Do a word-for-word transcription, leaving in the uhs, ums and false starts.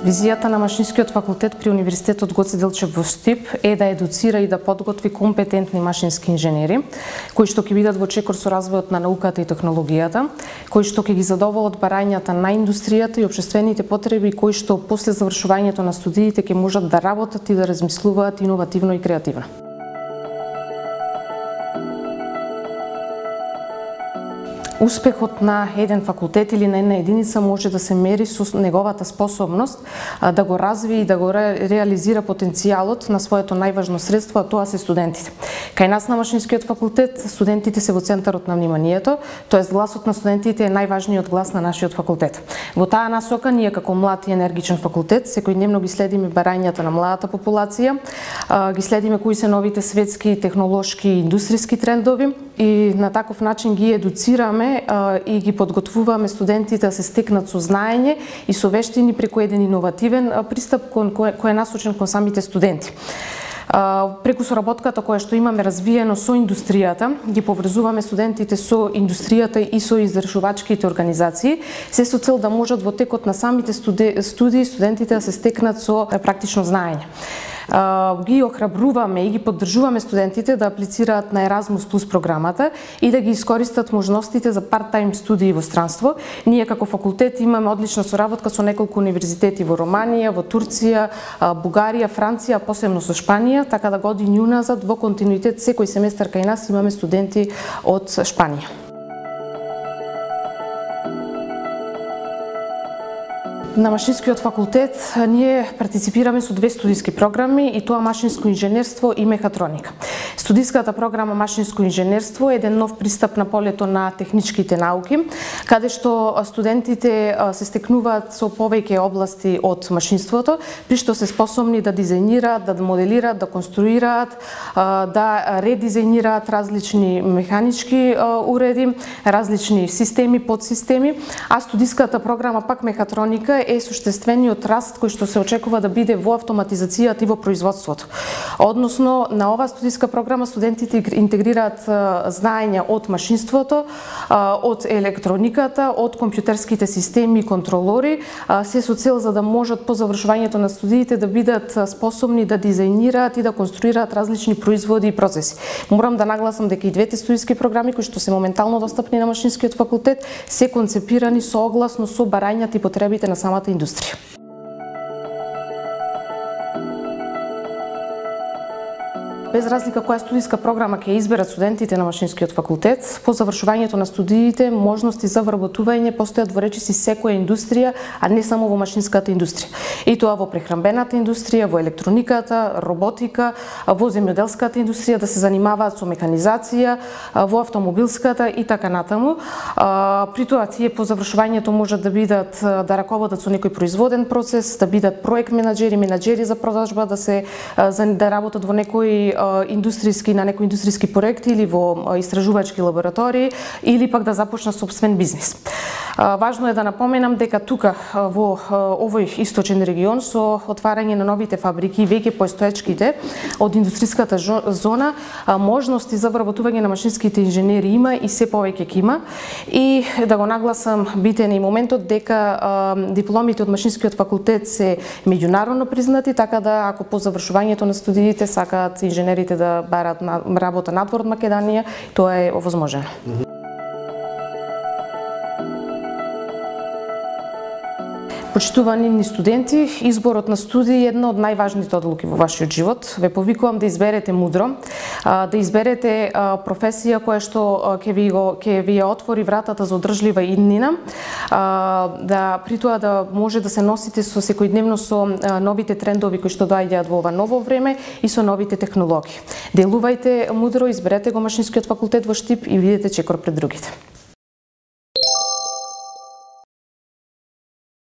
Визијата на Машинскиот факултет при Универзитетот Гоце Делчев во Штип е да едуцира и да подготви компетентни машински инженери, кои што ќе бидат во чекор со развојот на науката и технологијата, кои што ќе ги задоволат барањата на индустријата и општествените потреби, кои што после завршувањето на студиите ќе можат да работат и да размислуваат иновативно и креативно. Успехот на еден факултет или на една единица може да се мери со неговата способност да го развие и да го ре, реализира потенцијалот на своето најважно средство, а тоа се студентите. Кај нас на Машинскиот факултет студентите се во центарот на вниманието, тоест гласот на студентите е најважниот глас на нашиот факултет. Во таа насока ние како млад и енергичен факултет секојдневно ги следиме барањата на младата популација, ги следиме кои се новите светски, технолошки и индустријски трендови и на таков начин ги едуцираме и ги подготвуваме студентите да се стекнат со знаење и со вештини преку еден иновативен пристап кој е насочен кон самите студенти. Преку соработката која што имаме развиено со индустријата, ги поврзуваме студентите со индустријата и со издржувачките организации, се со цел да можат во текот на самите студии студентите да се стекнат со практично знаење. Ги охрабруваме и ги поддржуваме студентите да аплицираат на Еразмус плюс програмата и да ги искористат можностите за парт-тајм студии во странство. Ние како факултет имаме одлична соработка со неколку универзитети во Романија, во Турција, Бугарија, Франција, посебно со Шпанија, така да години уназад во континуитет секој семестар кај нас имаме студенти од Шпанија. На Машинскиот факултет ние партиципираме со две студиски програми и тоа машинско инженерство и мехатроника. Студиската програма Машинско инженерство е еден нов пристап на полето на техничките науки, каде што студентите се стекнуваат со повеќе области од машинството, при што се способни да дизајнираат, да моделираат, да конструираат, да редизајнираат различни механички уреди, различни системи, подсистеми, а студиската програма пак мехатроника е суштествениот раст кој што се очекува да биде во автоматизацијата и во производството. Односно, на оваа студиска програма студентите интегрираат знаења од машинството, од електрониката, од компјутерските системи и контролори, се со цел за да можат по завршувањето на студиите да бидат способни да дизајнираат и да конструираат различни производи и процеси. Морам да нагласам дека и двете студиски програми кои што се моментално достапни на Машинскиот факултет се концепирани соогласно со барањата и потребите на самата индустрија. Без разлика која студиска програма ќе изберат студентите на Машинскиот факултет, по завршувањето на студиите можности за вработување постојат во речиси секоја индустрија, а не само во машинската индустрија. И тоа во прехранбената индустрија, во електрониката, роботика, во земјоделската индустрија, да се занимаваат со механизација, во автомобилската и така натаму. При тоа тие по завршувањето можат да бидат да раководат со некој производен процес, да бидат проект менаџери, менаџери за продажба, да се да работат во некој индустријски на некои индустријски проекти или во истражувачки лаборатории или пак да започнат сопствен бизнис. Важно е да напоменам дека тука во овој источен регион со отварање на новите фабрики и веќе постоечките од индустријската зона можности за вработување на машинските инженери има и се повеќе ќе има. И да го нагласам битен е и моментот дека дипломите од Машинскиот факултет се меѓународно признати, така да ако по завршувањето на студиите сакаат инженерите да барат работа надвор од Македонија, тоа е овозможено. Почитувани ни студенти, изборот на студии е една од најважните одлуки во вашиот живот. Ве повикувам да изберете мудро, да изберете професија која што ќе ви го ќе ви ја отвори вратата за одржлива иднина, да при тоа да може да се носите со секојдневно со новите трендови кои што доаѓаат во ова ново време и со новите технологии. Делувајте мудро, изберете го Машинскиот факултет во Штип и бидете чекор пред другите.